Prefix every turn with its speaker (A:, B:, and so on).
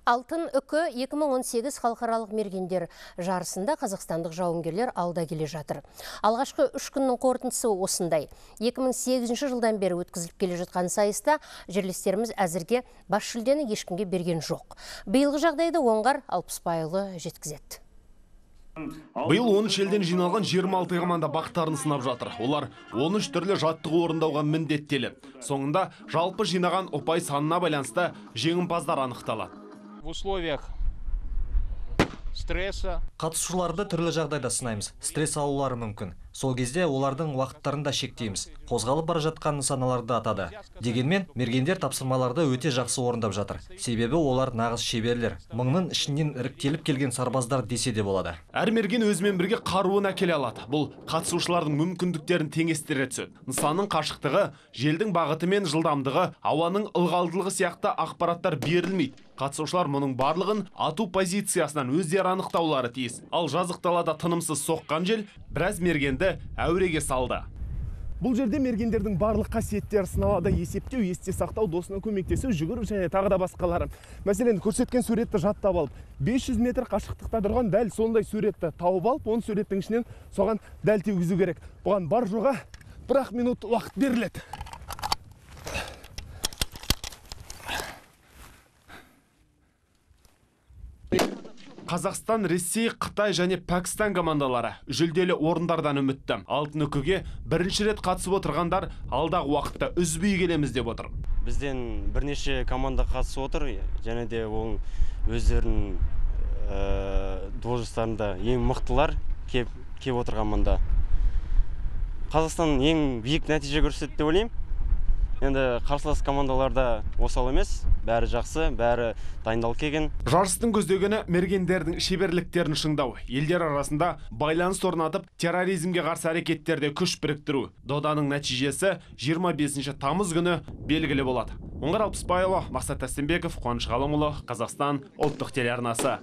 A: Алтын үкі 2018 халықаралық мергендер жарысында қазақстандық жауынгерлер алда келе жатыр. Алғашқы 3 күннің қорытындысы осындай. 2008 жылдан бері өткізіліп келе жатқан сайыста жерлестеріміз әзірге бас жүлдені ешкімге берген жоқ. Биылғы жағдайды оңғар Алпысбайұлы жеткізеді.
B: Биыл 13 елден жиналған 26 команда бақтарын сынап жатыр. Олар 13 түрлі жаттығу орындауға міндеттеледі. Соңында жалпы жинаған ұпай санына байланысты жеңімпаздар анықталады.
C: В условиях стресса
D: қатысушыларды түрлі жағдайда сынаймыз. Стресс алулары мүмкін. Сол кезде олардың уақыттарын да шектейміз. Қозғалып бара жатқан нысаналарды атады. Дегенмен мергендер тапсырмаларды өте жақсы орындап жатыр. Себебі олар нағыз шеберлер. Мыңның ішінен іріктеліп келген сарбаздар десе де болады.
B: Әр мерген өзімен бірге қаруын әкеле алады. Бұл қатысушылардың мүмкіндіктерін теңестіре түседі. Нысанның қашықтығы, желдің бағыты мен жылдамдығы, ауаның ылғалдылығы сияқты ақпараттар берілмейді. Қатысушылар мұның барлығын ату позициясынан өздері анықтаулары тиіс. Ал жазық далада тынымсыз соққан жел біраз мергенді әуреге салды.
E: Бұл жерде мергендердің барлық қасиеттері сыналады: есептеу, есте сақтау, досына көмектесу, жүгіру және тағы да басқалары. Мәселен, көрсеткен суретті жаттап алып, 500 метр қашықтықта тұрған дәл сондай суретті тауып алып, он суреттің ішінен соған дәл тигізу керек. Бұған бар жоға 1 минут уақыт беріледі.
B: Қазақстан, Ресей, Қытай және Пәкістан командалары жүлделі орындардан үмітті. Алтын үкіге бірінші рет қатысып отырғандар алдағы уақытта үзбей келеміз деп отыр.
F: Бізден бірнеше команда қатысып отыр, және де ол өздерінің должностарында ең мықтылар кеп отырған мында. Қазақстан ең биік нәтиже көрсетті деп ойлаймын. Енді қарсылас командаларда осал емес, бәрі жақсы, бәрі дайындалып келген.
B: Жарыстың көздегені мергендердің шеберліктерін шыңдау, елдер арасында байланыс орнатып, терроризмге қарсы әрекеттерде күш біріктіру. Доданың нәтижесі 25 тамыз күні белгілі болады. Оңғар Алпысбайұлы, Мақсат Әстенбеков, Қуаныш Ғалымұлы, Қазақстан ұлттық телеарнасы.